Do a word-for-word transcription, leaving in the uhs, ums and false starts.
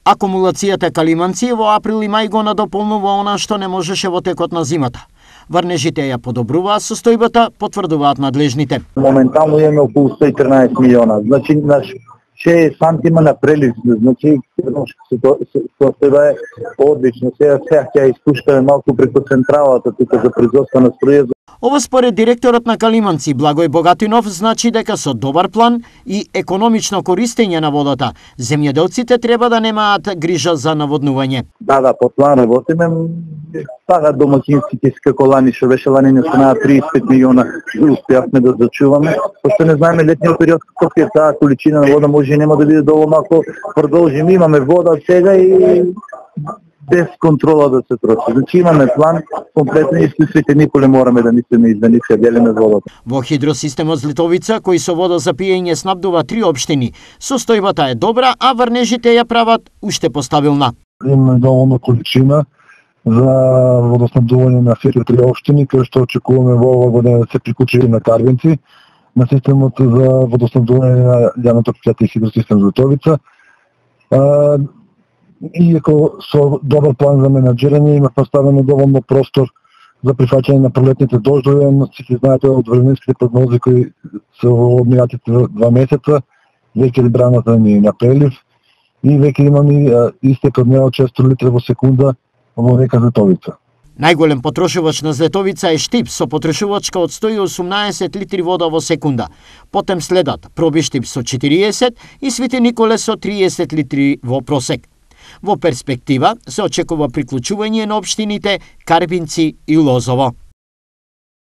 Акумулацијата Калиманци во април и мај го надополнува она што не можеше во текот на зимата. Врнежите ја подобруваат состојбата, потврдуваат надлежните. Моментално имаме околу сто и трнаесет милиона. Значи, наш шест сантима на прелив, значи состојба е одлично. Сега сега ќе испуштаме малку преку централата тука за производство на струја. Ова според директорот на Калиманци Благој Богатинов значи дека со добар план и економично користење на водата, земјоделците треба да немаат грижа за наводнување. Да, да, по план работиме. Пага домакинските како лани, што беше лани не станаа триесет и пет милиона, успеавме да зачуваме. Пошто не знаеме летниот период колку е таа количина на вода, може и нема да биде доволно ако продолжиме. Имаме вода сега и без контрола да се троши. Значи имаме план, комплетно и слушайте, николе мораме да мислиме и да не се делиме водата. Во хидросистемот Злитовица, кој со вода за пиење снабдува три општини, состојбата е добра, а врнежите ја прават уште постабилна. Имаме доволно количина за водоснабдување на сите три општини, кај што очекуваме во оваа година да се приклучи на Карвинци на системот за водоснабдување на јавното предпријатие хидросистем Злитовица. Иако со добар план за менаџирање има поставено доволно простор за прифаќање на пролетните дождови, но сите знаете од временските прогнози кои се во одминатите два месеца, веќе браната ни е на прелив и веќе имаме истек од не од шест литри во секунда во река Злитовица. Најголем потрошувач на Злитовица е Штип со потрошувачка од сто и осумнаесет литри вода во секунда. Потем следат Пробиштип со четириесет и Свети Николе со триесет литри во просек. Во перспектива се очекува приклучување на општините Карбинци и Лозово.